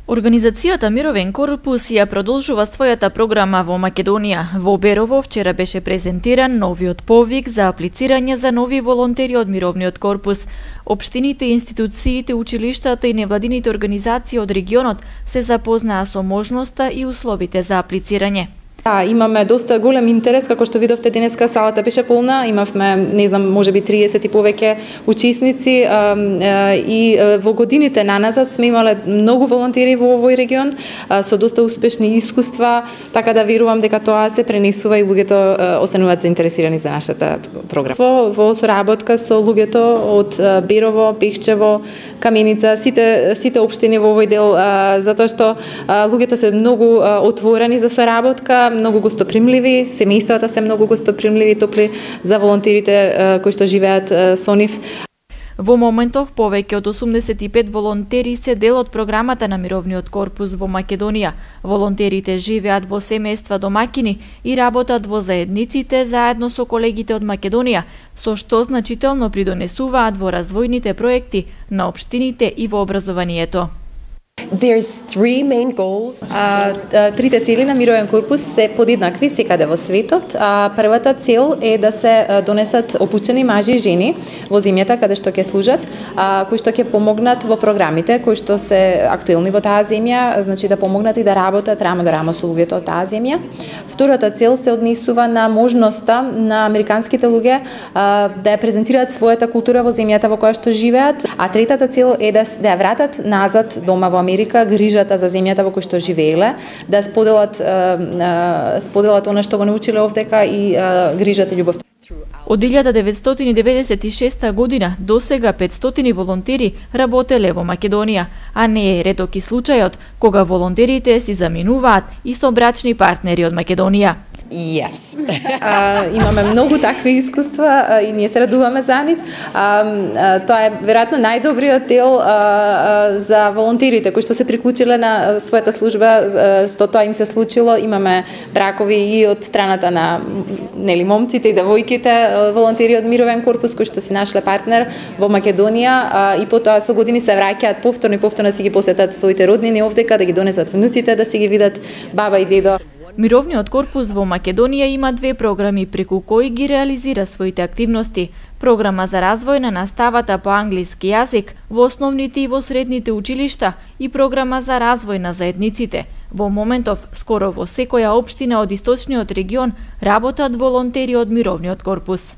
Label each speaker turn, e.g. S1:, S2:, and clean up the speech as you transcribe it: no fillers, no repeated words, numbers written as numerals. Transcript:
S1: Организацијата Мировен корпус ја продолжува својата програма во Македонија. Во Берово вчера беше презентиран новиот повик за аплицирање за нови волонтери од Мировниот корпус. Општините, институциите, училиштата и невладините организации од регионот се запознаа со можноста и условите за аплицирање.
S2: Имаме доста голем интерес, како што видовте денеска салата беше полна, имавме, не знам, можеби 30 и повеќе учесници и во годините наназад сме имале многу волонтери во овој регион со доста успешни искуства, така да верувам дека тоа се пренесува и луѓето остануваат заинтересирани за нашата програма. Во соработка со луѓето од Берово, Пехчево, Каменица, сите општини во овој дел, затоа што луѓето се многу отворени за соработка, многу гостопримливи, семејствата се многу гостопримливи, топли за волонтерите кои што живеат со нив.
S1: Во моментов повеќе од 85 волонтери се дел од програмата на Мировниот корпус во Македонија. Волонтерите живеат во семејства домакини и работат во заедниците заедно со колегите од Македонија, со што значително придонесуваат во развојните проекти на општините и во образованието.
S3: There's three main goals.
S2: Трите цели на Мировен корпус се подеднакви секаде во светот. Првата цел е да се донесат обучени мажи и жени во земјата каде што ќе служат, кои што ќе помогнат во програмите кои што се актуелни во таа земја, значи да помогнат и да работат рамо до рамо со луѓето од таа земја. Втората цел се однесува на можноста на американските луѓе да ја презентираат својата култура во земјата во која што живеат, а третата цел е да ја вратат назад дома во Америка грижата за земјата во која што живееле, да споделат она што го научиле овдека и грижата и љубовта.
S1: Од 1996 година до сега 500 волонтери работеле во Македонија, а не е реток и случајот кога волонтерите си заминуваат и со брачни партнери од Македонија.
S3: Yes.
S2: Имаме многу такви искуства и ние се радуваме за нив. Тоа е веројатно најдобриот дел за волонтерите кои што се приклучиле на својата служба, што тоа им се случило. Имаме бракови и од страната на момците и девојките, волонтери од Мировен корпус кои што си нашле партнер во Македонија и потоа со години се враќаат повторно си ги посетат своите роднини овдека, да ги донесат внуците, да си ги видат баба и дедо.
S1: Мировниот корпус во Македонија има две програми преку кои ги реализира своите активности. Програма за развој на наставата по англиски јазик во основните и во средните училишта и програма за развој на заедниците. Во моментов, скоро во секоја општина од источниот регион работат волонтери од Мировниот корпус.